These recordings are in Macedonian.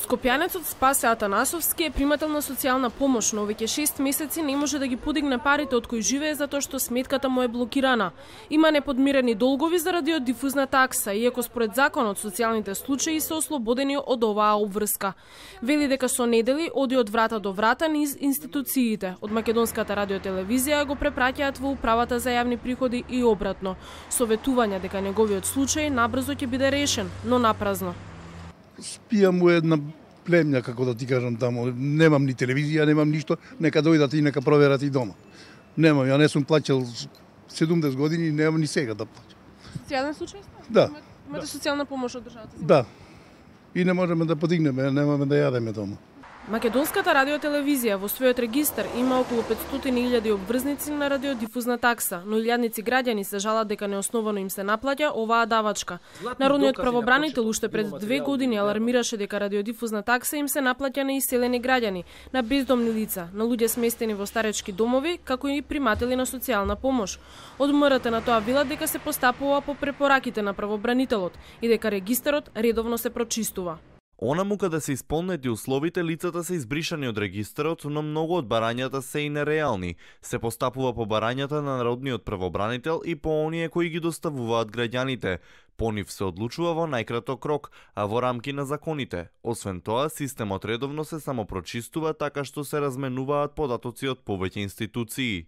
Скопјанецот Спасе Атанасовски е примател на социјална помош, но веќе 6 месеци не може да ги подигне парите од кои живее затоа што сметката му е блокирана. Има неподмирени долгови заради радиодифузна такса, иако според законот социјалните случаи се ослободени од оваа обврска. Вели дека со недели оди од врата до врата низ институциите. Од Македонската радиотелевизија го препраќаат во управата за јавни приходи и обратно. Советување дека неговиот случај набрзо ќе биде решен, но напразно. Спијам у една племња, како да ти кажам таму. Немам ни телевизија, немам ништо, нека дојдат и нека проверат и дома. Немам, ја не сум плаќал 70 години, немам ни сега да плаќам. Социјален случај сте? Да. Имате социјална помош од државата? Да. И не можеме да подигнеме, немаме да јадеме дома. Македонската радиотелевизија во својот регистар има околу 500.000 обврзници на радиодифузна такса, но илјадници граѓани се жалат дека неосновано им се наплаќа оваа давачка. Народниот правобранител уште пред 2 години алармираше дека радиодифузна такса им се наплаќа на иселени граѓани, на бездомни лица, на луѓе сместени во старечки домови, како и приматели на социјална помош. Од МРТ на тоа велат дека се постапува по препораките на правобранителот и дека регистарот редовно се прочистува. Онаму каде се исполнети условите, лицата се избришани од регистарот, но многу од барањата се и нереални. Се постапува по барањата на народниот правобранител и по оние кои ги доставуваат граѓаните. По нив се одлучува во најкраток рок, а во рамки на законите. Освен тоа, системот редовно се самопрочистува така што се разменуваат податоци од повеќе институции.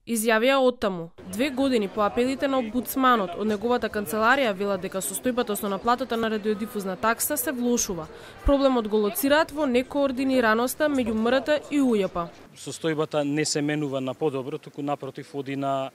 Изјавија оттаму. 2 години по апелите на омбудсманот од неговата канцеларија велат дека состојбата со наплатата на радиодифузна такса се влошува. Проблемот го лоцираат во некоординираноста меѓу МРТ и УЈП. Состојбата не се менува на подобро, туку напротив оди на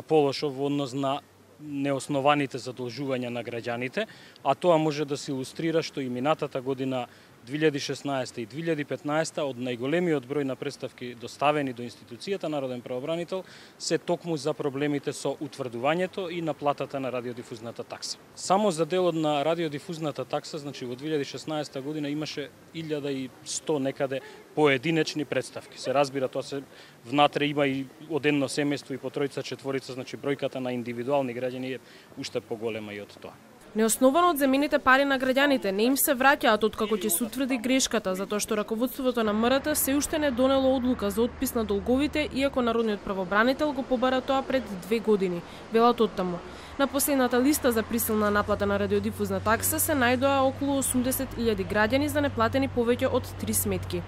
полошо во однос на неоснованите задолжувања на граѓаните, а тоа може да се илустрира што и минатата година 2016 и 2015 од најголемиот број на представки доставени до институцијата Народен правобранител се токму за проблемите со утврдувањето и наплатата на радиодифузната такса. Само за делот на радиодифузната такса, значи во 2016 година имаше 1100 некаде поединечни представки. Се разбира, тоа се внатре има и од едно семејство и по тројца, четворица, значи бројката на индивидуални граѓани е уште поголема и од тоа. Неосновано одземените пари на граѓаните не им се враќаат откако ќе се утврди грешката, затоа што раководството на МРТ се уште не донело одлука за отпис на долговите, иако народниот правобранител го побара тоа пред 2 години, велат оттаму. На последната листа за присилна наплата на радиодифузна такса се најдоа околу 80.000 граѓани за неплатени повеќе од 3 сметки.